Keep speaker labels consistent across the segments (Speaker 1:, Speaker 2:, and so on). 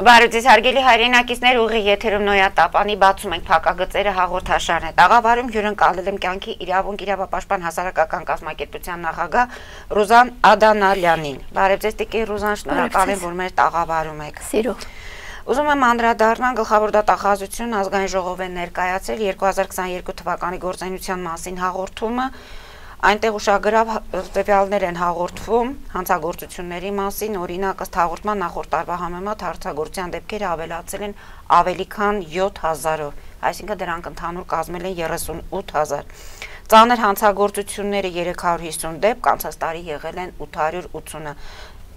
Speaker 1: Բարոյցես հարգելի հայրենակիցներ, ուղի եթերում Նոյատապանի բացում ենք փակագծերը հաղորդաշարն է։ Տաղավարում հյուրընկալել եմ կյանքի իրավունք իրավապաշտպան հասարակական կազմակերպության նախագահ Ռուզան Ադանալյանին։ Բարոյցես տիկին Ռուզան, շնորհակալ եմ, որ մեր տաղավարում եք։
Speaker 2: Սիրով։
Speaker 1: Ուզում եմ անդրադառնալ գլխավոր դատախազություն ազգային ժողով են ներկայացել 2022 թվականի գործունեության մասին հաղորդումը։ Այնտեղ ուշագրավ տվյալներ են հաղորդվում հանցագործությունների մասին, օրինակ ըստ հաղորդման նախորդ տարվա համեմատ հանցագործության դեպքերը ավելացել են ավելի քան 7000-ով, այսինքն դրանք ընդհանուր կազմել են 38000։ Ծանր հանցագործությունները 350 դեպք, անցած տարի եղել են 880-ը։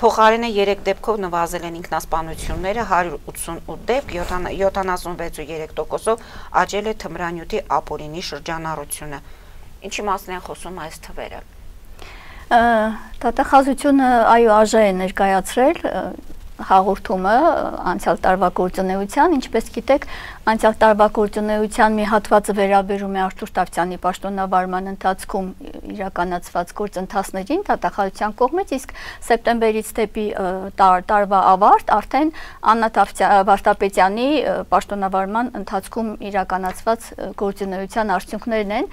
Speaker 1: Փոխարենը 3 դեպքով նվազել են ինքնասպանությունները 188 դեպք, 76.3%-ով աճել է թմրանյութի ապօրինի շրջանառությունը։ Ինչի մասին են խոսում այս թվերը։
Speaker 2: Դատախազությունը այո արժե է ներկայացրել հաղորդումը անցյալ տարվա գործունեության, ինչպես գիտեք, անցյալ տարվա գործունեության մի հատվածը վերաբերում է Արթուր Տավթյանի պաշտոնավարման ընթացքում իրականացված գործընթացներին դատախազության կողմից, իսկ սեպտեմբերից դեպի տարվա ավարտ արդեն Աննա Վարդապետյանի պաշտոնավարման ընթացքում իրականացված գործունեության արդյունքներն են։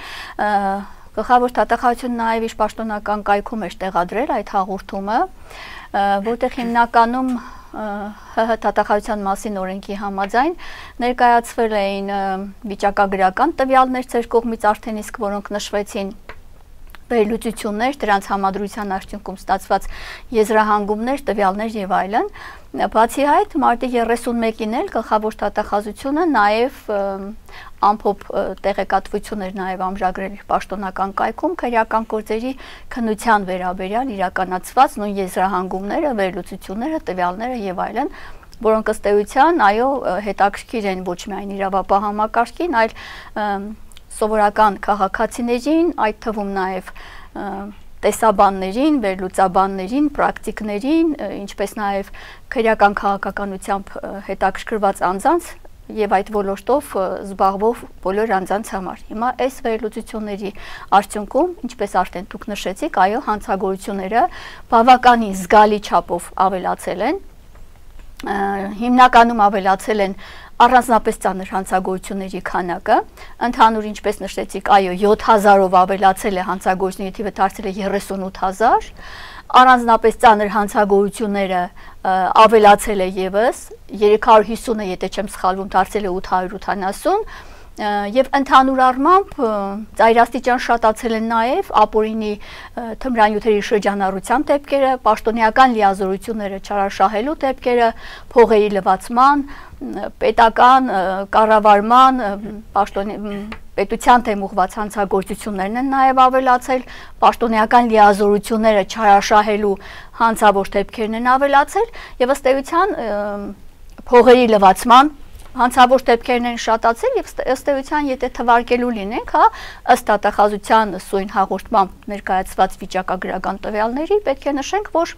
Speaker 2: Գլխավոր դատախազությունը նաև իր պաշտոնական կայքում էր տեղադրել այդ հաղորդումը, որտեղ հիմնականում ՀՀ դատախազության մասին օրենքի համաձայն ներկայացվել էին վիճակագրական տվյալներ ձեր կողմից արդեն իսկ, որոնք նշվեցին, վերլուծություններ, դրանց համադրության արդյունքում ստացված եզրահանգումներ, տվյալներ եւ այլն։ Բացի այդ, մարտի 31-ին էլ գլխավոր դատախազությունը նաև ամփոփ տեղեկատվություններ նաև ամրագրել իր պաշտոնական կայքում քրեական գործերի քննության վերաբերյալ իրականացված նույն եզրահանգումները, վերլուծությունները, տվյալները եւ այլն, որոնք ըստ էության այո հետաքրքիր են ոչ միայն իրավապահ համակարգին, այլ սովորական քաղաքացիներին, այդ թվում նաև տեսաբաններին, վերլուծաբաններին, պրակտիկներին, ինչպես նաև քրեական քաղաքականությամբ հետաքրքրված անձանց եւ այդ ոլորտով զբաղվող բոլոր անձանց համար։ Հիմա այս վերլուծությունների արդյունքում, ինչպես արդեն դուք նշեցիք, այո, հանցագործությունները բավականին զգալի չափով ավելացել են, հիմնականում ավելացել են առանձնապես ծանր հանցագործությունների քանակը, ընդհանուր ինչպես նշեցիք, այո 7000-ով ավելացել է հանցագործությունների թիվը դարձել է 38000, առանձնապես ծանր հանցագործությունները ավելացել է եւս 350-ը, եթե չեմ սխալվում, դարձել է 880 եւ ընդհանուր առմամբ ծայրաստիճան շատացել են նաեւ ապօրինի թմրանյութերի շրջանառության դեպքերը, պաշտոնեական լիազորությունները չարաշահելու դեպքերը, փողերի լվացման, պետական կառավարման, պետության դեմ ուղղված հանցագործություններն են նաեւ ավելացել, պաշտոնեական լիազորությունները չարաշահելու հանցավոր դեպքերն են ավելացել եւ ըստ էության փողերի լվացման հանցավոր դեպքերն են շատացել եւ ըստ էության եթե թվարկելու լինենք, հա, ըստ դատախազության սույն հաղորդմամբ ներկայացված վիճակագրական տվյալների պետք է նշենք, որ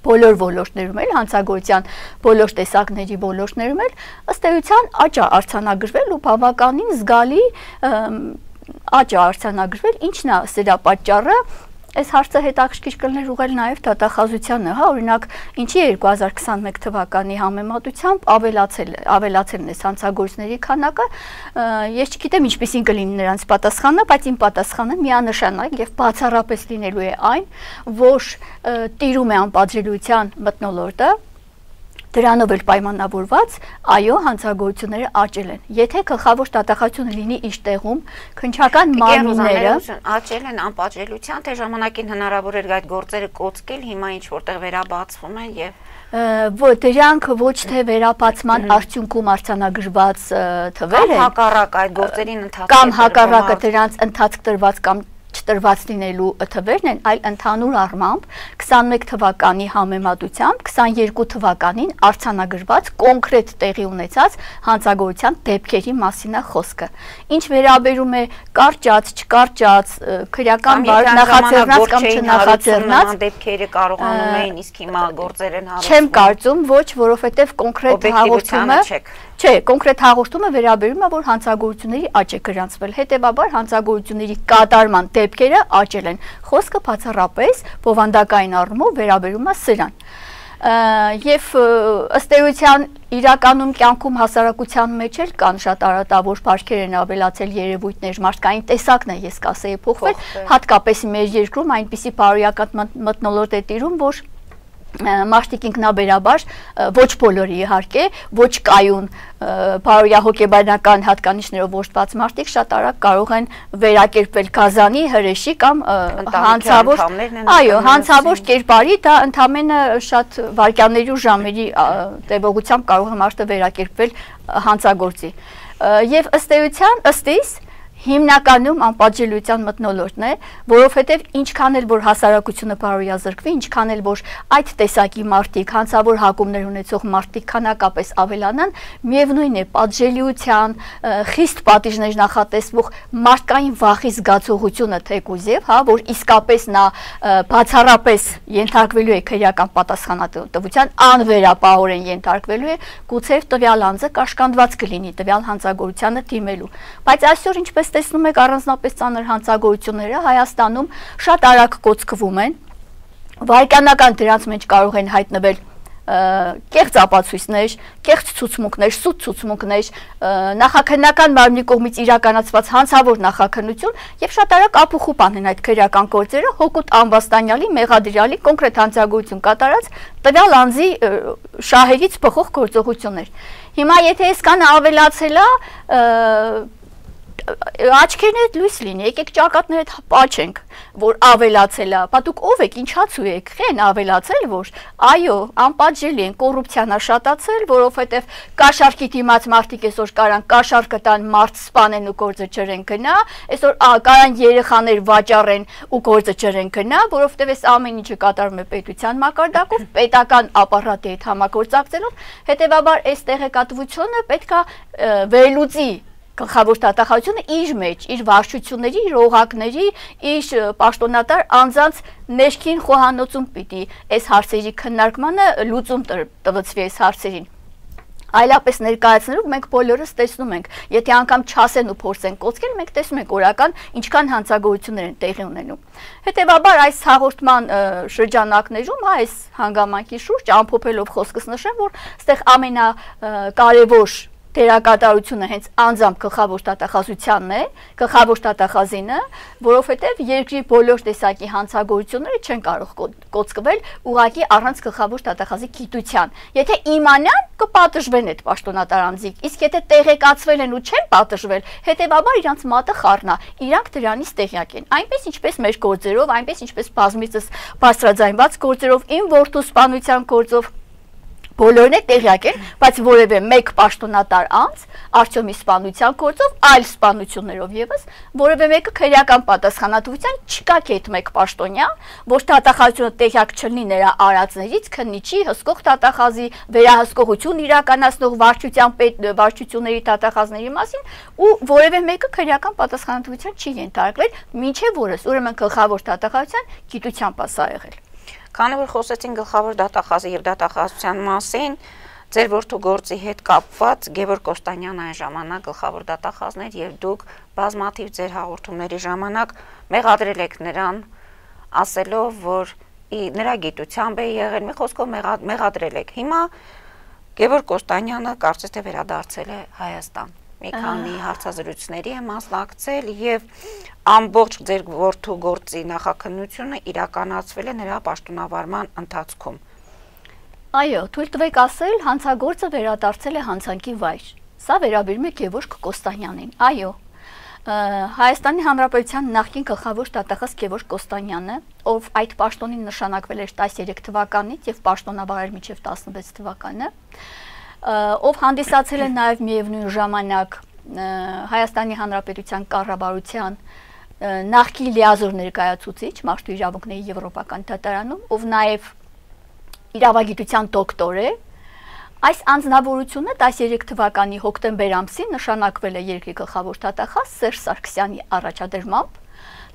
Speaker 2: բոլոր ոլորտներում էլ հանցագործության բոլոր տեսակների ոլորտներում էլ ըստ էության աճ է արձանագրվել ու բավականին զգալի աճ է արձանագրվել, ինչն է սրա պատճառը։ Այս հարցը հետաքրքիր կլներ ուղղել նաև դատախազությանը, հա, օրինակ, ինչի 2021 թվականի համեմատությամբ ավելացել են այս հանցագործների քանակը, ես չգիտեմ ինչպեսին կլինի նրանց պատասխանը, բայց իմ պատասխանը միանշանակ եւ բացառապես լինելու է այն, որ տիրում է անպատժելիության մթնոլորտը, դրանով էլ պայմանավորված, այո, հանցագործությունները աճել են։ Եթե գլխավոր դատախազությունը լինի իր տեղում, քննչական մարմինները
Speaker 1: աճել են անպատժելիության, թե ժամանակին հնարավոր էր այդ գործերը կոծկել, հիմա ինչ որտեղ վերաբացվում են եւ
Speaker 2: դրանք ոչ թե վերաբացման արդյունքում արձանագրված թվեր են,
Speaker 1: կամ հակառակ այդ գործերին ընթացք
Speaker 2: կամ հակառակը դրանց ընթացք տրված կամ չտրված լինելու թվերն են, այլ ընդհանուր առմամբ 21 թվականի համեմատությամբ 22 թվականին արձանագրված կոնկրետ տեղի ունեցած հանցագործության դեպքերի մասին է խոսքը։ Ինչ վերաբերում է կարճած, չկարճած, քրեական նախաձեռնած կամ չնախաձեռնած
Speaker 1: դեպքերը կարողանում էին, իսկ հիմա գործեր են հարուցվում։
Speaker 2: Չեմ կարծում, ոչ, որովհետև կոնկրետ հաղորդումը Չէ, կոնկրետ հաղորդումը վերաբերում է, որ հանցագործությունների աճ է գրանցվել, հետևաբար հանցագործությունների կատարման դեպքերը աճել են։ Խոսքը բացառապես բովանդակային առումով վերաբերում է սրան։ Եվ ըստ էության իրականում կյանքում հասարակության մեջ էլ կան շատ արատավոր բարքեր են ավելացել երևույթներ, մարդկային տեսակն է, ես կասեի, փոխվել, հատկապես մեր երկրում այնպիսի բարոյական մթնոլորտ է տիրում, որ մարդիկ ինքնաբերաբար ոչ բոլորի իհարկե, ոչ կայուն բարոյահոգեբանական հատկանիշներով օժտված մարդիկ շատ արագ կարող են վերակերպվել գազանի, հրեշի կամ հանցավոր կերպարի, դա ընդամենը շատ վայրկյանների ու ժամերի տևողությամբ կարող է մարդը վերակերպվել հանցագործի։ Եվ ըստ էության, ըստ իս հիմնականում անպատժելիության մթնոլորտն է, որովհետև ինչքան էլ որ հասարակությունը բարոյազրկվի, ինչքան էլ որ այդ տեսակի մարդիկ, հանցավոր հակումներ ունեցող մարդիկ քանակապես ավելանան, միևնույն է պատժելիության, խիստ պատիժներ նախատեսվող մարդկային վախի զգացողությունը թեկուզև, հա, որ իսկապես նա բացառապես ենթարկվելու է քրեական պատասխանատվության, անվերապահորեն ենթարկվելու է, գուցե տվյալ անձը կաշկանդված կլինի տվյալ հանցագործությանը դիմելու։ Բայց այսօր ինչպես տեսնում եք առանձնապես ծանր հանցագործությունները Հայաստանում շատ արագ կոծկվում են, վայրկյանական դրանց մեջ կարող են հայտնվել կեղծ ապացույցներ, կեղծ ցուցմունքներ, սուտ ցուցմունքներ, նախաքննական մարմնի կողմից իրականացված հանցավոր նախաքննություն եւ շատ արագ ապուխուպ են այդ քրեական գործերը հօգուտ անվաստանյալի, մեղադրյալի կոնկրետ հանցագործություն կատարած տվյալ անձի շահերից փոխող գործողություններ։ Հիմա եթե այսքանը ավելացել է աչքերներդ լույս լինի, եկեք ճակատներդ պաչենք, որ ավելացել է, բա դուք ով եք, ինչացու եք, խեն ավելացել, որ այո, անպատժելի են, կոռուպցիան է շատացել, որովհետև կաշառքի դիմաց մարդիկ այսօր կարան կաշառքը տան, մարդ սպանեն ու գործը չրեն գնա, այսօր կարան երեխաներ վաճառեն ու գործը չրեն գնա, որովհետև այս ամեն ինչը կատարվում է պետության մակարդակով, պետական ապարատի հետ համագործակցելով, հետևաբար այս տեղեկատվությունը պետք է վերլուծի գլխավոր տվյալությունը իր մեջ, իր վարչությունների, իր օղակների, իր պաշտոնատար անձանց ներքին խոհանոցում պիտի այս հարցերի քննարկմանը լուծում տվեցվի այս հարցերին։ Այլապես ներկայացնելով մենք բոլորս տեսնում ենք, եթե անգամ չասեն ու փորձեն կոծկել, մենք տեսնում ենք օրական ինչքան հանցագործություններ են տեղի ունենում։ Հետևաբար այս հաղորդման շրջանակներում, այս հանգամանքի շուրջ ամփոփելով խոսքս նշեմ, որ այստեղ ամենակարևոր դերակատարությունը հենց անձամբ գլխավոր տվյալահաշվությանն է, գլխավոր տվյալահաշվինը, որովհետև երկրի բոլոր տեսակի հանցագործությունները չեն կարող կոծկվել ուղղակի առանց գլխավոր տվյալահաշվի գիտության։ Եթե իմանան, կպատժվեն այդ պաշտոնատար անձիկ, իսկ եթե տեղեկացվել են ու չեն պատժվել, հետևաբար իրանց մատը խառնա, իրանք դրանից տեղյակ են։ Այնպես ինչպես մեր գործերով, այնպես ինչպես բազմիցս բարձրաձայնված գործերով, իմ որդու սպանության գործով բոլորն է տեղյակ են, բայց որևէ մեկ պաշտոնատար անձ Արտյոմի սպանության գործով, այլ սպանություններով եւս, որևէ մեկը քրեական պատասխանատվության չկա կետ մեկ պաշտոնյա, որ տվյալահաշվությունը տեղյակ չլինի նրա արածներից, քննիչի, հսկող տվյալահաշվի, վերահսկողություն իրականացնող վարչությունների տվյալահաշվների մասին, ու որևէ մեկը քրեական պատասխանատվության չի ենթարկվել, մինչև որս, ուրեմն գլխավոր տվյալահաշվության գիտությամբ է սա եղել։
Speaker 1: Քանի որ խոսեցին գլխավոր դատախազի եւ դատախազության մասին, ձեր որդու գործի հետ կապված Գևորգ Կոստանյանը այն ժամանակ գլխավոր դատախազն էր եւ դուք բազմաթիվ ձեր հաղորդումների ժամանակ մեղադրել եք նրան, ասելով, որ նրա գիտությամբ է եղել, մի խոսքով մեղադրել եք։ Հիմա Գևորգ Կոստանյանը կարծես թե վերադարձել է Հայաստան։ Մի քանի հարցազրույցների է մասնակցել եւ ամբողջ ձեր որդու գործի նախաքննությունը իրականացվել է նրա պաշտոնավարման ընթացքում։
Speaker 2: Այո, թույլ տվեք ասել, հանցագործը վերադարձել է հանցանքի վայր։ Սա վերաբերում է Գևորգ Կոստանյանին։ Այո, Հայաստանի Հանրապետության նախկին գլխավոր տվյալահաշ Գևորգ Կոստանյանը, ով այդ պաշտոնին նշանակվել էր 13 թվականից եւ պաշտոնավարել մինչեւ 16 թվականը, ով հանդիսացել է նաև միևնույն ժամանակ Հայաստանի Հանրապետության կառավարության նախկին լիազոր ներկայացուցիչ մարդու իրավունքների եվրոպական դատարանում, ով նաև իրավագիտության դոկտոր է, այս անձնավորությունը 13 թվականի հոկտեմբեր ամսին նշանակվել է երկրի գլխավոր տվյալահաշ Սերժ Սարգսյանի առաջադրմամբ,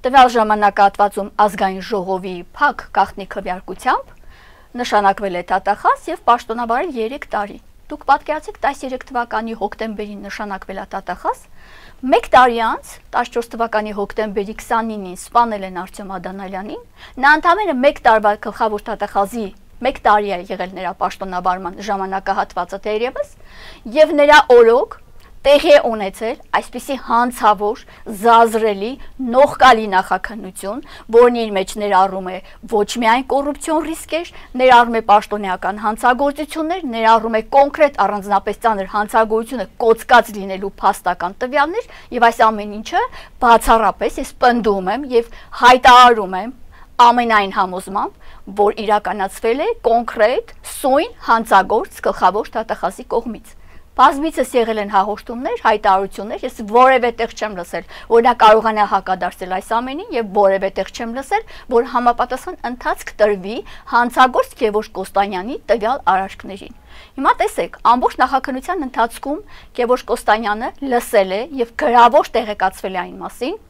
Speaker 2: տվյալ ժամանակահատվածում ազգային ժողովի փակ գաղտնի քվեարկությամբ նշանակվել է տվյալահաշ եւ պաշտոնավարել 3 տարի։ Դուք պատկերացրեք 13 թվականի հոկտեմբերին նշանակվել է տվյալահաշ, 1 տարի անց 14 թվականի հոկտեմբերի 29-ին սպանել են Արտյոմ Ադանալյանին, նա ընդամենը 1 տարվա գլխավոր տվյալահաշի 1 տարի է եղել նրա պաշտոնավարման ժամանակահատվածը դերևս, եւ նրա օրոք տեղի է ունեցել այսպիսի հանցավոր, զազրելի, նողկալի նախաքննություն, որն իր մեջ ներառում է ոչ միայն կոռուպցիոն ռիսկեր, ներառում է պաշտոնեական հանցագործություններ, ներառում է կոնկրետ առանձնապես ծանր հանցագործությունը կոծկած լինելու փաստական տվյալներ, եւ այս ամեն ինչը բացառապես ես պնդում եմ եւ հայտարարում եմ ամենայն համոզմամբ, որ իրականացվել է կոնկրետ սույն հանցագործ գլխավոր դատախազի կողմից։ Բազմիցս եղել են հաղորդումներ, հայտարարություններ, ես որևէ տեղ չեմ լսել, որ նա կարողանա հակադարձել այս ամենին եւ որևէ տեղ չեմ լսել, որ համապատասխան ընթացք տրվի հանցագործ Գևորգ Կոստանյանի տվյալ արարքներին։ Հիմա տեսեք, ամբողջ նախաքննության ընթացքում Գևորգ Կոստանյանը լսել է եւ գրավոր տեղեկացվել է այն մասին,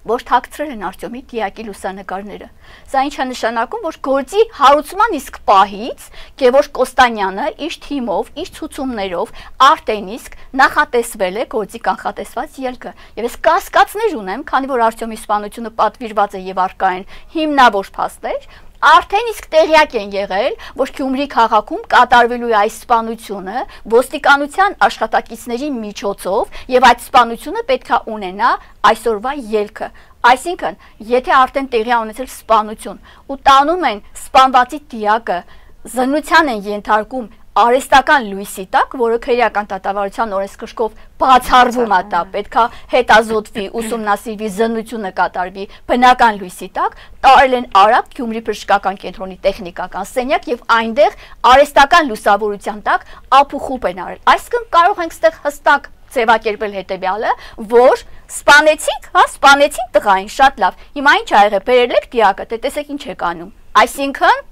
Speaker 2: որ թաքցրել են Արտյոմի դիակի լուսանկարները։ Սա ինչ է նշանակում, որ գործի հարուցման իսկ պահից Գևորգ Կոստանյանը իր թիմով, իր ցուցումներով արդեն իսկ նախատեսվել է գործի կանխատեսված ելքը։ Եվ ես կասկածներ ունեմ, քանի որ Արտյոմի սպանությունը պատվիրված է եւ առկա են հիմնավոր փաստեր, արդեն իսկ տեղյակ են եղել, որ Գյումրի քաղաքում կատարվելու է այս սպանությունը ոստիկանության աշխատակիցների միջոցով եւ այդ սպանությունը պետք է ունենա այսօրվա ելքը։ Այսինքն, եթե արդեն տեղի ունեցել սպանություն ու տանում են սպանվածի դիակը, զննության են ենթարկում արհեստական լույսի տակ, որը քրեական դատավարության օրենսգրքով բացառվում է դա, պետքա հետազոտվի, ուսումնասիրվի, զննությունը կատարվի բնական լույսի տակ, տարել են Արաբ Գյումրի բժշկական կենտրոնի տեխնիկական սենյակ եւ այնտեղ արհեստական լուսավորության տակ ապուխուպ են արել։ Այսինքն կարող ենք ստեղ հստակ ձևակերպել հետեւյալը, որ սպանեցիք, սպանեցին տղային, շատ լավ։ Հիմա ինչ ա եղել, բերել եք դիակը, տեսեք ինչ եք անում։ Այսինքն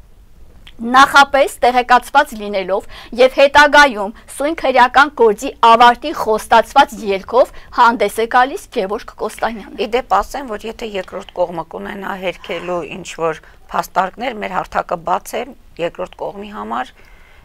Speaker 2: նախապես տեղեկացված լինելով եւ հետագայում սույն քրեական գործի ավարտի խոստացված ելքով հանդես է գալիս Գևորգ Կոստանյանը։
Speaker 1: Իդեպ ասեմ, որ եթե երկրորդ կողմը կունենա հերքելու ինչ որ փաստարկներ, մեր հարթակը բաց է երկրորդ կողմի համար։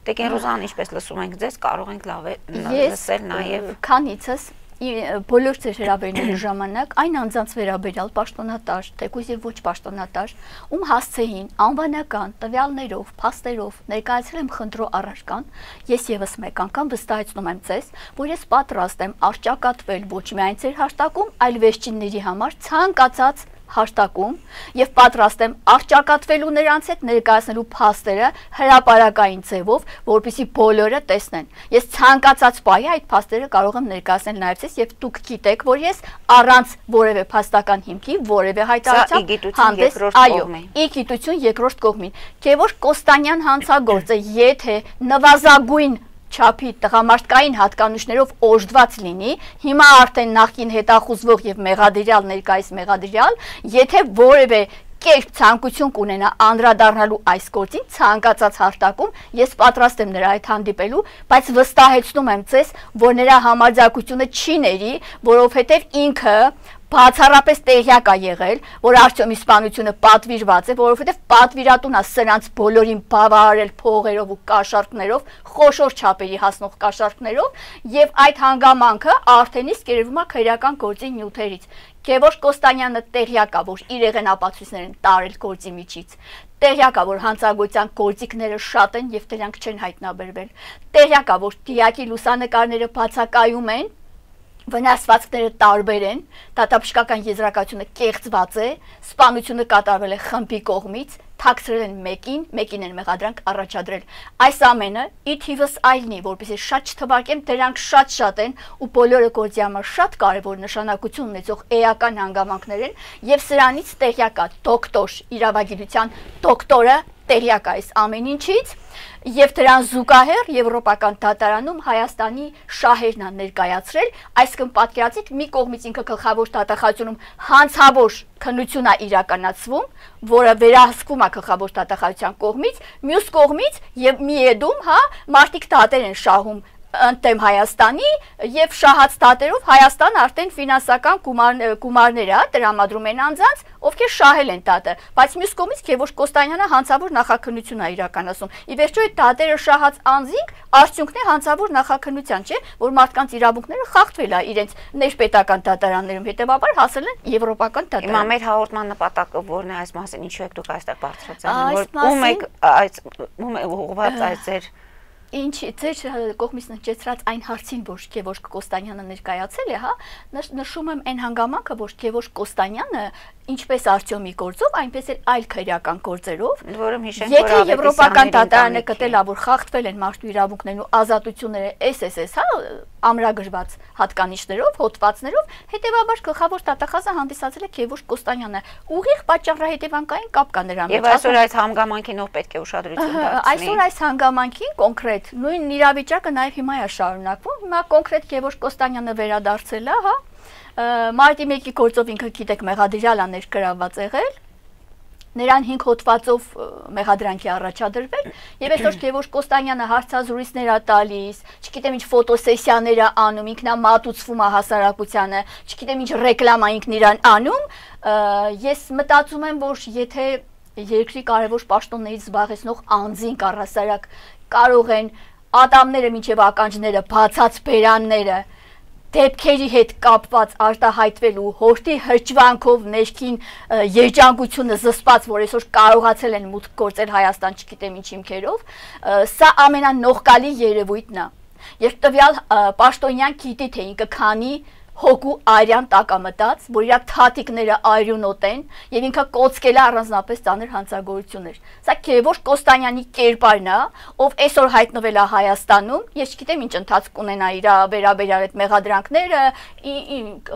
Speaker 1: Տեկեն Ռուզան, ինչպես լսում ենք ձեզ, կարող ենք լավ լսել նաեւ
Speaker 2: քանիցս բոլոր ձեր հրավերների ժամանակ այն անձանց վերաբերյալ պաշտոնատար, թեկուզ եւ ոչ պաշտոնատար, ում հասցեին անվանական տվյալներով, փաստերով ներկայացրել եմ խնդրո առարկան, ես եւս մեկ անգամ վստահեցնում եմ ձեզ, որ ես պատրաստ եմ արճակատվել ոչ միայն ձեր հաշտակում, այլ վերջինների համար ցանկացած հաշտակում եւ պատրաստ եմ արճակատվելու նրանց հետ ներկայացնելու փաստերը հրապարակային ձևով, որպեսզի բոլորը տեսնեն։ Ես ցանկացած պահի այդ փաստերը կարող եմ ներկայացնել նաեւ ցես եւ դուք գիտեք, որ ես առանց որևէ փաստական հիմքի, որևէ հայտարարության հանդես, այո, ի գիտություն երկրորդ կողմին։ Գևորգ Կոստանյան հանցագործը, եթե նվազագույն չափի տղամարդկային հատկանիշներով օժտված լինի, հիմա արդեն նախկին հետախուզվող եւ մեղադրյալ ներկայիս մեղադրյալ, եթե որևէ կերպ ցանկություն կունենա անդրադառնալու այս գործին, ցանկացած հարտակում ես պատրաստ եմ նրա հետ հանդիպելու, բայց վստահեցնում եմ ձեզ, որ նրա համարձակությունը չի ների, որովհետեւ ինքը բացառապես տեղյակ է եղել, որ Արտյոմի սպանությունը պատվիրված է, որովհետև պատվիրատուն է սրանց բոլորին բավարարել փողերով ու կաշառքներով, խոշոր չափերի հասնող կաշառքներով, եւ այդ հանգամանքը արդեն իսկ երևում է քրեական գործի նյութերից։ Գևորգ Կոստանյանը տեղյակ է, որ իր եղենապացույցներ են տարել գործի միջից։ Տեղյակ է, որ հանցագործության գործիքները շատ են եւ դրանք չեն հայտնաբերվել։ Տեղյակ է, որ դիակի լուսանկարները բացակայում են, վնասվածքները տարբեր են, դատաբժշկական եզրակացությունը կեղծված է, սպանությունը կատարվել է խմբի կողմից, թաքցրել են մեկին են մեղադրանք առաջադրել։ Այս ամենը ի թիվս այլնի, որպեսզի շատ չթվարկեմ, դրանք շատ են ու բոլորը գործի համար շատ կարևոր նշանակություն ունեցող էական հանգամանքներ են եւ սրանից տեղյակ է դոկտոր, իրավագիտության դոկտորը տեղյակ է այս ամեն ինչից եւ դրան զուգահեռ Եվրոպական դատարանում Հայաստանի շահերն են ներկայացրել, այսինքն պատկերացրեք մի կողմից ինքը գլխավոր դատախազությունում հանցավոր քննություն է իրականացվում, որը վերահսկվում է գլխավոր դատախազության կողմից, մյուս կողմից եւ մի եդում, մարդիկ դատեր են շահում ընդդեմ Հայաստանի եւ շահած դատերով Հայաստան արդեն ֆինանսական գումարներ է տրամադրում են անձանց, ովքեր շահել են դատը, բայց մյուս կողմից Գևորգ Կոստանյանը հանցավոր նախաքննություն է իրականացում։ Ի վերջո այդ դատերը շահած անձինք արդյունքն է հանցավոր նախաքննության, չէ, որ մարդկանց իրավունքները խախտվել է իրենց ներպետական դատարաններում, հետեւաբար հասել են եվրոպական դատարան։
Speaker 1: Հիմա մեր հաղորդման նպատակը որն է այս մասին, ինչու եք դուք այստեղ բարձրացնում, որ ում եք ուղղված այս ձեր
Speaker 2: Ինչ ձեր կողմից նշեցրած այն հարցին, որ Գևորգ Կոստանյանը ներկայացել է, հա, նշում եմ այն հանգամանքը, որ Գևորգ Կոստանյանը ինչպես Արտյոմի գործով, այնպես էլ այլ քրեական գործերով,
Speaker 1: որում հիշենք, որ
Speaker 2: եթե եվրոպական դատարանը գտել է, որ խախտվել են մարդու իրավունքներն ու ազատությունները SSS, հա, ամրագրված հատկանիշներով, հոդվածներով, հետեւաբար գլխավոր դատախազը հանդիսացել է Գևորգ Կոստանյանը։ Ուղիղ պատճառահետևանքային կապ կա նրա մեջ։
Speaker 1: Եվ այսօր այս հանգամանքին ով պետք է ուշադրություն դարձնի։
Speaker 2: Այսօր այս հանգամանքին կոնկրետ նույն իրավիճակը նաև հիմա է շարունակվում։ Հիմա կոնկրետ Գևորգ Կոստանյանը վերադարձել է, հա, Մարտի 1-ի գործով ինքը գիտեք մեղադրյալ է ներգրավված եղել, նրան 5 հոդվածով մեղադրանքի առաջադրվել, եւ այսօր Գևորգ Կոստանյանը հարցազրույցներ է տալիս, չգիտեմ ինչ ֆոտոսեսիաներ է անում, ինքնա մատուցվում է հասարակությանը, չգիտեմ ինչ ռեկլամա ինքն իրան անում, ես մտածում եմ, որ եթե երկրի կարևոր պաշտոններից զբաղեցնող անձին առհասարակ կարող են ատամները մինչև ականջները, բացած բերանները դեպքերի հետ կապված արտահայտվելու հորտի հրճվանքով ներքին երջանկությունը զսպած, որ այսօր կարողացել են մուտք գործել Հայաստան, չգիտեմ ինչ հիմքերով, սա ամենանողկալի երևույթն է։ Երբ տվյալ պաշտոնյան գիտի թե ինքը քանի հոգու արյան տակամտած, որ իր թաթիկները արյունոտ են եւ ինքը կոծկել է առանձնապես ծանր հանցագործություններ։ Սա Գևորգ Կոստանյանի կերպարն է, ով այսօր հայտնվել է Հայաստանում, ես չգիտեմ ինչ ընթացք ունենա իր վերաբերյալ այդ մեղադրանքները,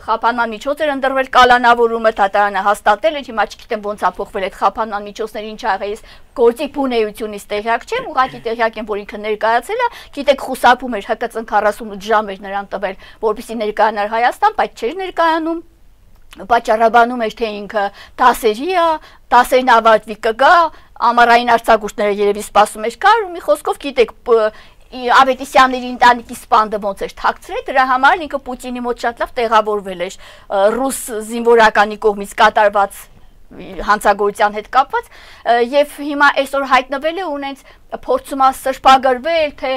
Speaker 2: խափանման միջոցներ ընդրվել կալանավորումը դատարանը հաստատել է, հիմա չգիտեմ ոնց է փոխվել այդ խափանման միջոցները, ինչ ա եղել, ես գործի բունեությունից տեղյակ չեմ, ուղղակի տեղյակ եմ, որ ինքը ներկայացել է, գիտեք խուսափում էր ՀԿՑ 48 ժամ էր նրան տվել, որպեսզի ներկայանար Հայաստան, բայց չէր ներկայանում, պատճառաբանում էր թե ինքը դասերի է, դասերն ավարտվի կգա, ամառային արձակուրդները երևի սպասում էր կար, ու մի խոսքով գիտեք Ավետիսյանների ընտանիքի սպանդը ոնց էր թաքցրել, դրա համար ինքը Պուտինի մոտ շատ լավ տեղավորվել էր ռուս զինվորականի կողմից կատարված հանցագործության հետ կապված եւ հիմա այսօր հայտնվել է ունենց փորձում է սրբագրվել թե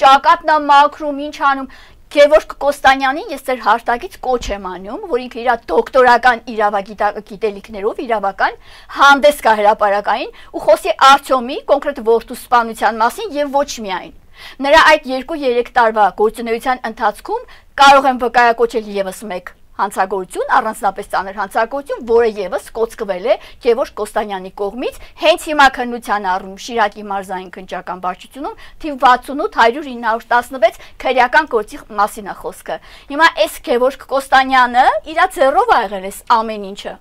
Speaker 2: ճակատն է մաքրում ինչ անում Գևորգ Կոստանյանին ես ձեր հարտակից կոչ եմ անում, որ ինքը իր դոկտորական իրավագիտելիքներով իրավական հանդես կա հրապարակային ու խոսի Արտյոմի կոնկրետ որդու սպանության մասին եւ ոչ միայն նրա այդ 2-3 տարվա գործունեության ընթացքում կարող եմ վկայակոչել եւս մեկ հանցագործություն, առանձնապես ծանր հանցագործություն, որը եւս կոծկվել է Գևորգ Կոստանյանի կողմից, հենց հիմա քննության առում Շիրակի մարզային քննչական վարչությունում թիվ 68-916 քրեական գործի մասին է խոսքը։ Հիմա այս Գևորգ Կոստանյանը իր ձեռով ա եղել այս ամեն ինչը։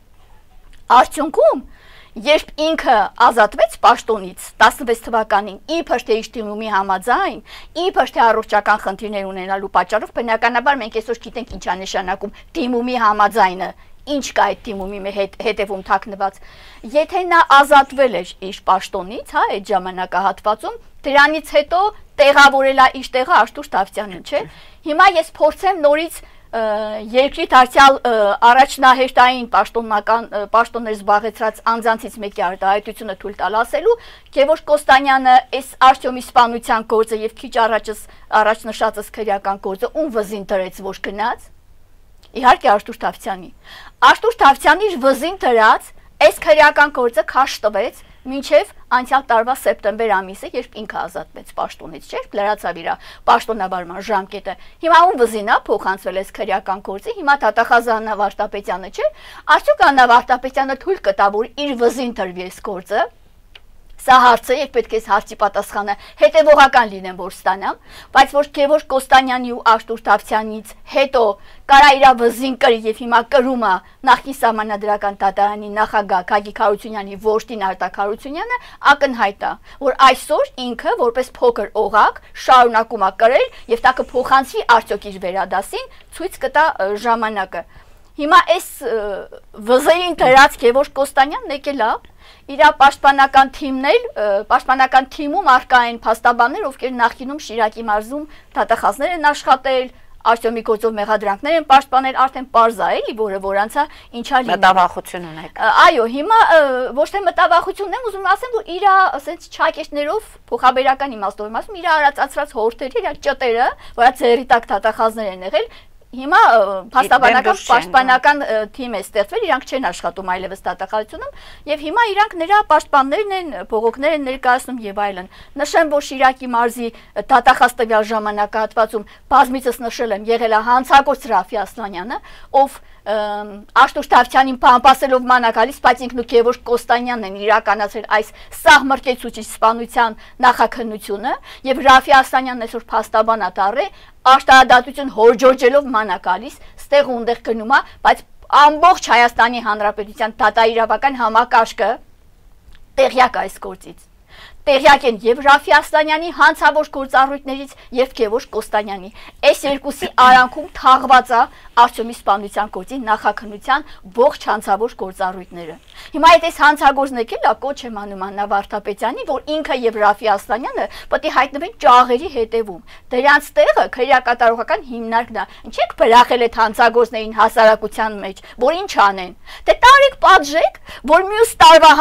Speaker 2: Արդյունքում Երբ ինքը ազատվեց պաշտոնից 16 թվականին, իբր թե իր դիմումի համաձայն, իբր թե առողջական խնդիրներ ունենալու պատճառով, բնականաբար մենք այսօր գիտենք ինչ է նշանակում դիմումի համաձայնը, ինչ կա այդ դիմումի հետևում թաքնված։ Եթե նա ազատվել էր իր պաշտոնից, հա, այդ ժամանակահատվածում, դրանից հետո տեղավորել է իր տեղը Արտուր Դավթյանին, չէ։ Հիմա ես փորձեմ նորից երկրի դարձյալ առաջնահերթային պաշտոններ զբաղեցրած անձանցից մեկի արտահայտությունը թույլ տալ ասելու Գևորգ Կոստանյանը այս Արտյոմի սպանության գործը եւ քիչ առաջ նշածս քրեական գործը ում վզին դրեց ոչ գնաց իհարկե Արտուր Դավթյանի Արտուր Դավթյանի իր վզին դրած այս քրեական գործը քաշ տվեց մինչև անցյալ տարվա սեպտեմբեր ամիսը, երբ ինքը ազատվեց պաշտոնից, չէ՞, լրացավ իր պաշտոնավարման ժամկետը։ Հիմա ում վզին է փոխանցվել այս քրեական գործը, հիմա դատախազ Աննա Վարդապետյանը, չէ՞։ Արդյոք Աննա Վարդապետյանը թույլ կտա, որ իր վզին դրվի այս գործը։ Սա հարցը, երբ պետք է հարցի պատասխանը հետևողական լինեմ, որ ստանամ, բայց որ Գևորգ Կոստանյանի ու Արտուր Դավթյանից հետո կարա իր վզին կրի եւ հիմա կրում է նախկին սահմանադրական դատարանի նախագահ Գագիկ Հարությունյանի որդին Արտակ Հարությունյանը ակնհայտ է, որ այսօր ինքը որպես փոքր օղակ շարունակում է կրել եւ դա կփոխանցվի արդյոք իր վերադասին, ցույց կտա ժամանակը։ Հիմա այս վզային դրած Գևորգ Կոստանյանն եկել է իր պաշտպանական թիմում արկա են փաստաբաններ, ովքեր նախկինում Շիրակի մարզում դատախազներ են աշխատել, Արտյոմի գործով մեղադրանքներ են պաշտպանել, արդեն պարզ է, էլի, որ անցա ինչա լինի։
Speaker 1: Մտավախություն ունեք։
Speaker 2: Այո, հիմա ոչ թե մտավախությունն եմ ուզում ասեմ, որ իր ասենց չակեշներով փոխաբերական իմաստով ասում, իր արածացրած հորթերը, իր ճտերը, որը ծերի տակ դատախազներ են եղել, հիմա փաստաբանական պաշտպանական թիմ է ստեղծվել, իրանք չեն աշխատում այլևս դատախազությունում, եւ հիմա իրանք նրա պաշտպաններն են, բողոքներ են ներկայացնում եւ այլն։ Նշեմ, որ Շիրակի մարզի դատախազ տվյալ ժամանակահատվածում բազմիցս նշել եմ, եղել է հանցագործ Ռաֆի Ասլանյանը, ով Աշտուր Թավթյանին պահպանելով մանակալից, բայց ինքն ու Գևորգ Կոստանյանն են իրականացրել այս սահմռկեցուցիչ սպանության նախաքննությունը եւ Ռաֆի Ասլանյանն այսօր փաստաբան է դառել, աշտարադատություն հորջորջելով մանակալից, ստեղ ու ունդեղ գնում է, բայց ամբողջ Հայաստանի Հանրապետության դատաիրավական համակարգը տեղյակ այս գործից։ Տեղյակ են եւ Ռաֆի Ասլանյանի հանցավոր գործառույթներից եւ Գևորգ Կոստանյանի։ Այս երկուսի արանքում թաղված է Արտյոմի սպանության գործի նախաքննության ողջ հանցավոր գործառույթները։ Հիմա այդ այս հանցագործն եկել է կոչ եմ անում Աննա Վարդապետյանի, որ ինքը եւ Ռաֆի Ասլանյանը պետք է հայտնվեն ճաղերի հետևում։ Դրանց տեղը քրեակատարողական հիմնարկն է։ Ինչեք բրախել այդ հանցագործներին հասարակության մեջ, որ ինչ անեն։ Դե տարեք պատժեք, որ մյուս տարվա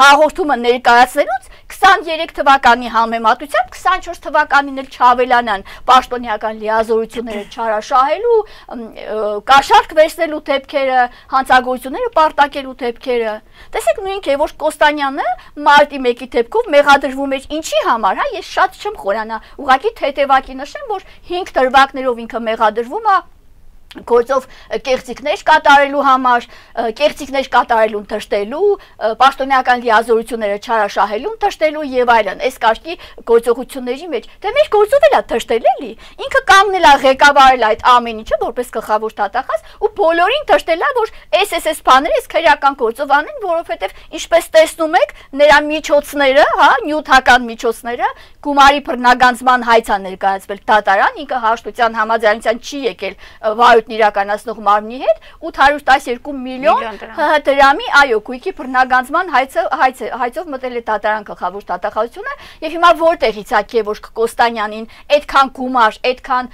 Speaker 2: հաղորդումը ներկայացնելուց 23 թվականի համեմատությամբ 24 թվականին էլ չավելանան պաշտոնյական լիազորությունները չարաշահելու, կաշառք վերցնելու դեպքերը, հանցագործությունները պարտակելու դեպքերը։ Տեսեք նույն Գևորգ Կոստանյանը մարտի 1-ի դեպքով մեղադրվում էր ինչի համար, հա, ես շատ չեմ խորանա, ուղղակի թեթևակի նշեմ, որ 5 դրվագներով ինքը մեղադրվում է գործով կեղծիքներ կատարելու համար, կեղծիքներ կատարելուն թշտելու, պաշտոնյական լիազորությունները չարաշահելուն թշտելու եւ այլն, այս կարգի գործողությունների մեջ։ Դե մեր գործով էլ է թշտել էլի։ Ինքը կանգնել է ղեկավարել այդ ամեն ինչը որպես գլխավոր դատախազ ու բոլորին թշտել է, որ այս բաները այս քրեական գործով անեն, որովհետեւ ինչպես տեսնում եք, նրա միջոցները, հա, նյութական միջոցները գումարի բռնագանձման հայց է ներկայացվել դատարան, ինքը հաշտության համաձայնության չի եկել վարույթն իրականացնող մարմնի հետ 812 միլիոն դրամի, այո, գույքի բռնագանձման հայցով մտել է դատարան գլխավոր դատախազությունը եւ հիմա որտեղից է Գևորգ Կոստանյանին այդքան գումար, այդքան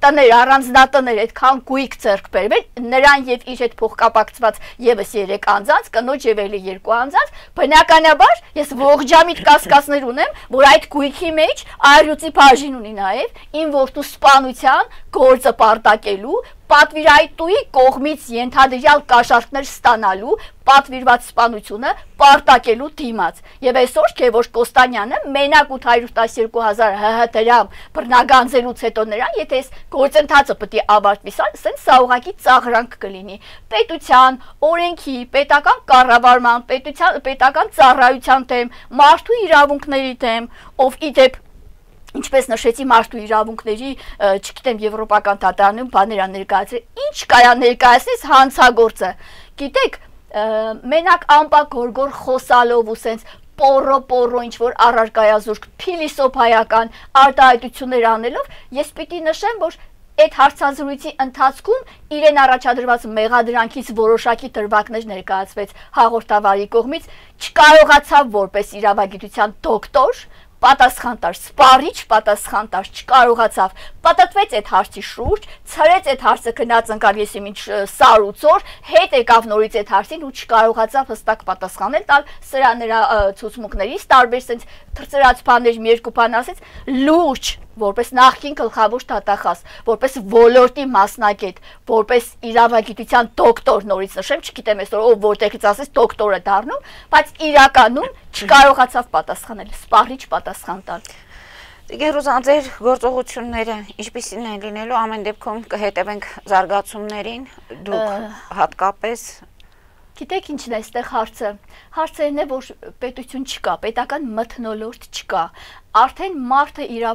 Speaker 2: տներ, առանձնատներ, այդքան գույք ձեռք բերվել, նրան եւ իր հետ փոխկապակցված եւս 3 անձանց, կնոջ եւ էլի 2 անձանց, բնականաբար ես ողջամիտ կասկածներ ունեմ, որ այդ գույքի մեջ այրուծի բաժին ունի նաեւ իմ որդու սպանության գործը պարտակելու, պատվիրատուի կողմից ենթադրյալ կաշառքներ ստանալու, պատվիրված սպանությունը պարտակելու դիմաց։ Եվ այսօր Գևորգ Կոստանյանը մենակ 812,000 ՀՀ դրամ բռնագանձելուց հետո նրան, եթե այս գործընթացը պետք է ավարտվի, սա ուղղակի ծաղրանք կլինի պետության, օրենքի, պետական կառավարման, պետական ծառայության դեմ, մարդու իրավունքների դեմ, ով իդեպ ինչպես նշեցի մարդու իրավունքների, չգիտեմ, եվրոպական դատարանում բաներ ներկայացրել, ինչ կարա ներկայացնես հանցագործը։ Գիտեք, մենակ ամպագորգոր խոսալով ու սենց պորո ինչ որ առարկայազուրկ փիլիսոփայական արտահայտություններ անելով, ես պիտի նշեմ, որ այդ հարցազրույցի ընթացքում իրեն առաջադրված մեղադրանքից որոշակի դրվագներ ներկայացվեց հաղորդավարի կողմից, չկարողացավ որպես իրավագիտության դոկտոր պատասխան տար, սպառիչ պատասխան տար, չկարողացավ, պատտվեց այդ հարցի շուրջ, ցրեց այդ հարցը գնաց ընկավ եսի ինչ սար ու ծոր, հետ եկավ նորից այդ հարցին ու չկարողացավ հստակ պատասխանել տալ, սրա նրա ցուցմունքներից տարբեր sense թրծրած բաներ մի երկու բան ասեց, լուրջ որպես նախկին գլխավոր դատախազ, որպես ոլորտի մասնագետ, որպես իրավագիտության դոկտոր, նորից նշեմ, չգիտեմ այսօր ով որտեղից ասես դոկտորը դառնում, բայց իրականում չկարողացավ պատասխանել, սպառիչ պատասխան տալ։
Speaker 1: Գերուզա, ձեր գործողությունները ինչպիսին են լինելու, ամեն դեպքում կհետևենք զարգացումներին, դուք հատկապես
Speaker 2: Գիտեք ինչն է այստեղ հարցը։ Հարցը այն է, որ պետություն չկա, պետական մթնոլորտ չկա։ Արդեն մարդը իր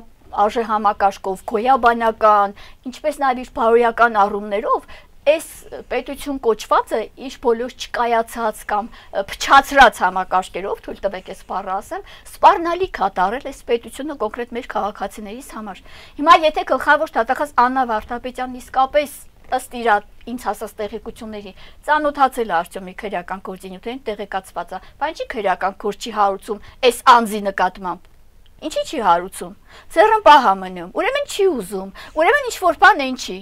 Speaker 2: արժեհամակարգով, գոյաբանական, ինչպես նաև իր բարոյական առումներով այս պետություն կոչվածը իր բոլոր չկայացած կամ փչացրած համակարգերով, թույլ տվեք այս բառը ասեմ, սպառնալի կատարել այս պետությունը կոնկրետ մեր քաղաքացիներից համար։ Հիմա եթե գլխավոր դատախազ Աննա Վարդապետյանն իսկապես ըստ իր ինձ հասած տեղեկությունների ծանոթացել է Արտյոմի քրեական գործունեությանը տեղեկացված է, բայց ինչի քրեական գործ չի հարուցում այս անձի նկատմամբ։ Ինչի չի հարուցում։ Ձեռնպահ է մնում, ուրեմն չի ուզում, ուրեմն ինչ որ բան են չի։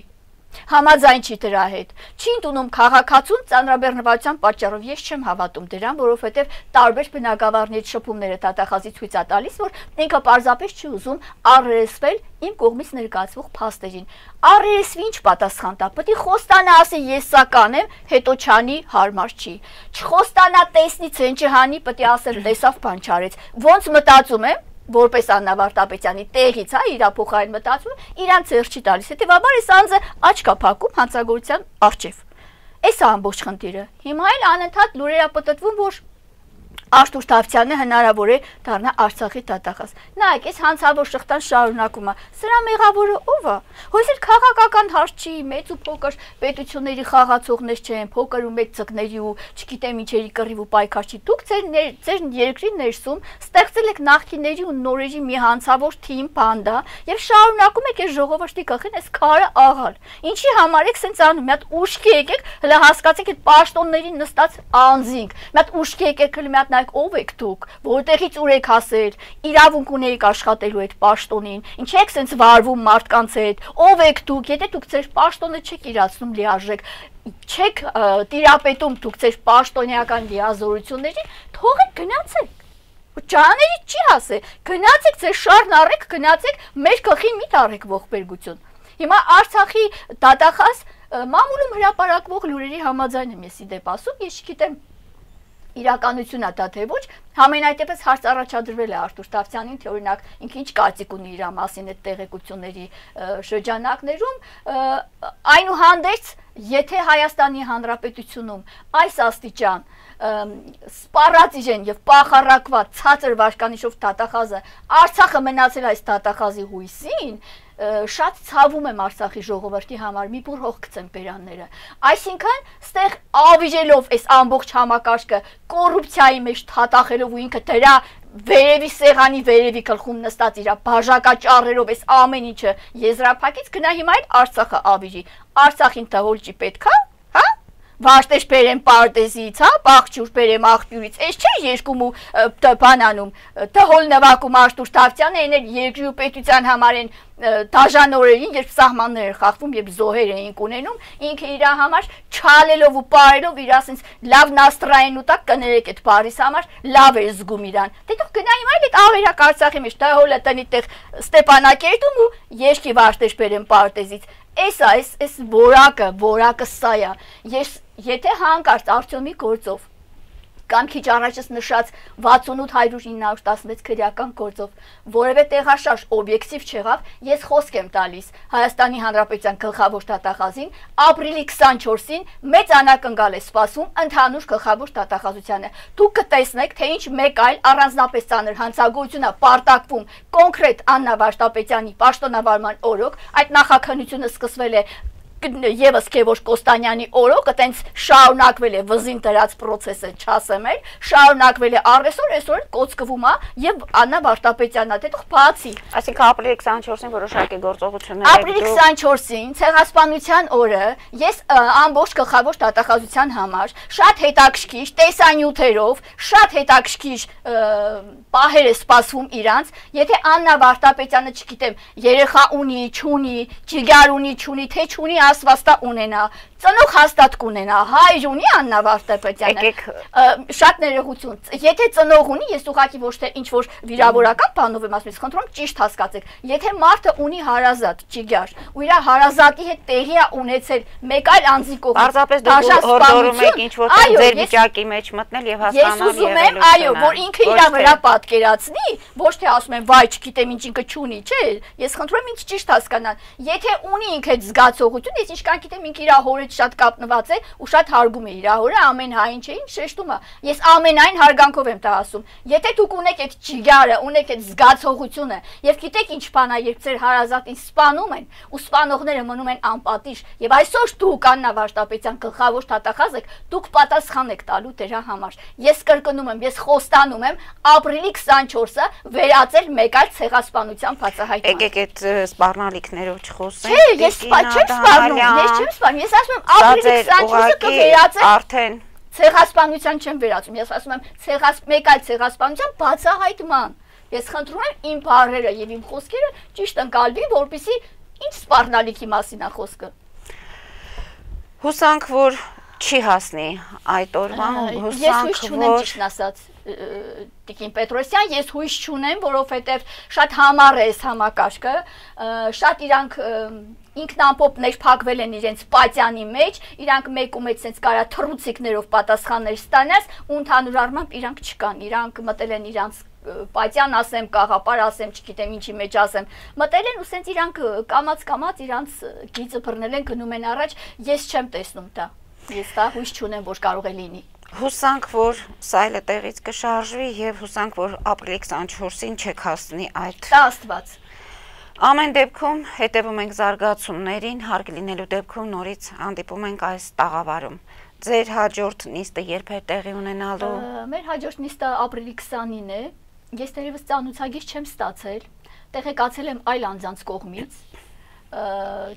Speaker 2: Համաձայն չի դրա հետ։ Չի ընդունում քաղաքացուն ծանրաբեռնվածության պատճառով ես չեմ հավատում դրան, որովհետև տարբեր բնակավարների շփումները դատախազի ցույց է տալիս, որ ինքը պարզապես չի ուզում առերեսվել իմ կողմից ներկայացվող փաստերին։ Առերեսվի ինչ պատասխան տա։ Պետք է խոստանա ասի ես սա կանեմ, հետո չանի հարմար չի։ Չխոստանա տեսնի ցեն չհանի, պետք է ասել տեսավ բան չարեց։ Ոնց մտածում եմ որպես Աննա Վարդապետյանի տեղից, իր փոխարեն մտածում, իրան ծեր չի տալիս։ Հետևաբար այս անձը աչք է փակում հանցագործության առջև։ Այս է ամբողջ խնդիրը։ Հիմա էլ անընդհատ լուրեր է պտտվում, որ Արտուր Թավթյանը հնարավոր է դառնա Արցախի դատախազ։ Նայեք, այս հանցավոր շղթան շարունակում է։ Սրա մեղավորը ով է։ Հույս էլ քաղաքական հարց չի, մեծ ու փոքր պետությունների խաղացողներ չեն, փոքր ու մեծ ցկների ու չգիտեմ ինչերի կռիվ ու պայքար չի։ Դուք ձեր երկրի ներսում ստեղծել եք նախկինների ու նորերի մի հանցավոր թիմ, բանդա եւ շարունակում եք այս ժողովրդի գլխին այս քարը աղալ։ Ինչի համար եք սենց անում։ Մի հատ ուշքի եկեք, հələ հասկացեք այդ պաշտոնների նստած անձինք։ Մի հատ ուշքի եկեք, հələ մի հատ ով եք դուք, որտեղից ուր եք հասել, իրավունք ունեիք աշխատելու այդ պաշտոնին, ինչ եք սենց վարվում մարդկանց հետ, ով եք դուք, եթե դուք ձեր պաշտոնը չեք իրացնում լիարժեք, չեք տիրապետում դուք ձեր պաշտոնեական լիազորություններին, թողեք գնացեք։ Ջաների չի հասե, գնացեք ձեր շարն առեք, գնացեք մեր գլխին մի տարեք ողբերգություն։ Հիմա Արցախի դատախազ մամուլում հրապարակվող լուրերի համաձայն եմ ես իդեպ ասում, ես չգիտեմ իրականությունն է դա թե ոչ, համենայնտեպս հարց առաջադրվել է Արտուր Թավթյանին, թե օրինակ ինքը ինչ կարծիք ունի իր մասին այդ տեղեկությունների շրջանակներում, այնուհանդերձ, եթե Հայաստանի Հանրապետությունում այս աստիճան սպառած իրեն եւ պախարակված ցածր վարկանիշով դատախազը Արցախը մնացել այս դատախազի հույսին, շատ ցավում եմ Արցախի ժողովրդի համար, մի բուր հող գցեմ բերանները։ Այսինքն, ստեղ ավիժելով այս ամբողջ համակարգը կոռուպցիայի մեջ թաթախելով ու ինքը դրա վերևի սեղանի վերևի գլխում նստած իր բաժակաճառերով այս ամեն ինչը եզրափակից գնա հիմա այդ Արցախը ավիժի։ Արցախին տահոլճի պետքա, հա? Վաշտեշ բերեմ պարտեզից, հա, բաղջուր բերեմ աղբյուրից, այս չէ երկում ու բանանում, տհոլ նվակում Արտուր Թավթյանը էներ երկրի ու պետության համար են դաժան օրերին, երբ սահմաններ էր խախվում, երբ զոհեր էինք ունենում, ինքը իր համար չալելով ու պարելով իր ասենց լավ նաստրային ու տակ կներեք այդ բարիս համար, լավ էր զգում իրան։ Դե դուք գնայիմ այլ այդ ավերակ Արցախի մեջ, տհոլը տնի տեղ Ստեփանակերտում ու երկի վաշտեշ բերեմ պարտեզից։ Այս որակը սա է։ Եթե հանկարծ Արտյոմի գործով կամ քիչ առաջս նշած 68-100-916 քրեական գործով որևէ տեղաշարժ օբյեկտիվ չեղավ, ես խոսք եմ տալիս Հայաստանի Հանրապետության գլխավոր դատախազին, ապրիլի 24-ին մեծ անակնկալ է սպասում ընդհանուր գլխավոր դատախազությանը։ Դուք կտեսնեք, թե ինչ մեկ այլ առանձնապես ծանր հանցագործություն է պարտակվում կոնկրետ Աննա Վարդապետյանի պաշտոնավարման օրոք, այդ նախաքննությունը սկսվել է Եվս Քևոշ Կոստանյանի օրոք այտենց շարունակվել է վզին դրած process-ը չասեմ էլ, շարունակվել է առեսօր, այսօր կոծկվում է եւ Աննա Վարդապետյանն է դուք բացի։
Speaker 1: Այսինքն ապրիլի 24-ին որոշակի գործողություններ
Speaker 2: Ապրիլի 24-ին ցեղասպանության օրը ես ամբողջ գլխավոր դատախազության համար շատ հետաքրքիր տեսանյութերով, շատ հետաքրքիր պահեր է սպասվում իրանց, եթե Աննա Վարդապետյանը, չգիտեմ, երեխա ունի, չունի, ճիգար ունի, չունի, թե չունի ասվաստա ունենա, ծնող հաստատ կունենա, հայր ունի Աննա Վարդապետյանը, շատ ներողություն, եթե ծնող ունի, ես ուղղակի ոչ թե ինչ-որ վիրավորական բանով եմ ասում, ես խնդրում ճիշտ հասկացեք, եթե մարդը ունի հարազատ, ճիգար, ու իր հարազատի հետ տեղի է ունեցել մեկ այլ անձի կողմից,
Speaker 1: պարզապես դուք հորդորում եք ինչ-որ ձեր վիճակի մեջ մտնել եւ հասկանալ
Speaker 2: եղելությունը, այո, որ ինքը իր վրա պատկերացնի, ոչ թե ասում են, վայ, չգիտեմ ինչ ինքը չունի, չէ, ես խնդրում եմ ինձ ճիշտ հասկանալ, եթե ունի ինքը այդ զգացողություն, ես ինչքան գիտեմ ինքը իր հորից շատ կապնված է ու շատ հարգում է իր հորը, ամեն հային չէին շեշտում է։ Ես ամենայն հարգանքով եմ դա ասում։ Եթե դուք ունեք այդ ճիգարը, ունեք այդ զգացողությունը եւ գիտեք ինչ բան է, երբ ձեր հարազատին սպանում են ու սպանողները մնում են անպատիժ եւ այսօր դուք Աննա Վարդապետյան գլխավոր դատախազ եք, դուք պատասխան եք տալու դրա համար։ Ես կրկնում եմ, ես խոստանում եմ ապրիլի 24-ը վերածել մեկ այլ ցեղասպանության բացահայտման։
Speaker 1: Եկեք այդ սպառնալիքներով չխոսենք։
Speaker 2: Չէ, ես չեմ սպառնում ես չեմ սպանում, ես ասում եմ ապրիլի 24-ը կվերածել
Speaker 1: արդեն
Speaker 2: ցեղասպանության չեմ վերածում, ես ասում եմ մեկ այլ ցեղասպանության բացահայտման։ Ես խնդրում եմ իմ բառերը եւ իմ խոսքերը ճիշտ ընկալվի, որպեսզի ինչ սպառնալիքի մասին է խոսքը։
Speaker 1: Հուսանք, որ չի հասնի այդ օրվան,
Speaker 2: հուսանք, որ ճիշտ ասած Տիկին Պետրոսյան, ես հույս չունեմ, որովհետև շատ համառ է այս համակարգը, շատ իրանք ինքնամպոպ ներփակվել են իրենց պատյանի մեջ, իրանք մեկ ու մեկ sense կարա թռուցիկներով պատասխաններ ստանաս, ու ընդհանուր առմամբ իրանք չկան, իրանք մտել են իրանք պատյան ասեմ, կաղապար ասեմ, չգիտեմ ինչի մեջ ասեմ, մտել են ու sense իրանք կամած իրանք գիծը բռնել են գնում են առաջ, ես չեմ տեսնում դա, ես դա հույս չունեմ, որ կարող է լինի։
Speaker 1: Հուսանք, որ սայլը տեղից կշարժվի եւ հուսանք, որ ապրիլի 24-ին չեք հասնի այդ։
Speaker 2: Դա Աստված։
Speaker 1: Ամեն դեպքում հետևում ենք զարգացումներին, հարկ լինելու դեպքում նորից հանդիպում ենք այս տաղավարում։ Ձեր հաջորդ նիստը երբ է տեղի ունենալու։
Speaker 2: Մեր հաջորդ նիստը ապրիլի 20-ին է։ Ես դեռևս ծանոթագիր չեմ ստացել, տեղեկացել եմ այլ անձանց կողմից,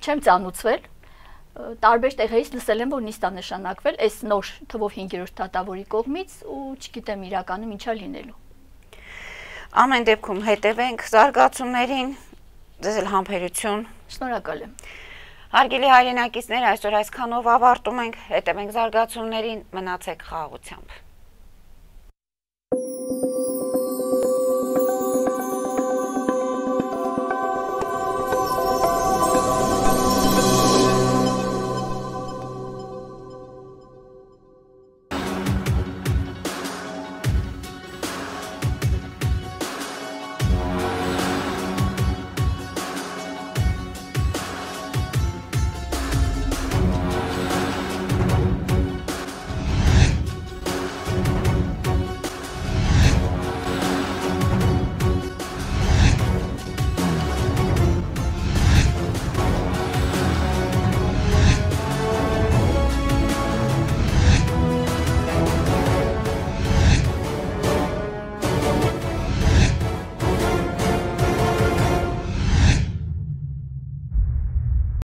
Speaker 2: չեմ ծանոթվել, տարբեր տեղերից լսել եմ, որ նիստա նշանակվել այս նոր թվով 5-րդ դատավորի կողմից ու չգիտեմ իրականում ինչա լինելու։
Speaker 1: Ամեն դեպքում հետևենք զարգացումներին, ձեզ էլ համբերություն։
Speaker 2: Շնորհակալ եմ։
Speaker 1: Հարգելի հայրենակիցներ, այսօր այսքանով ավարտում ենք, հետևենք զարգացումներին, մնացեք խաղաղությամբ։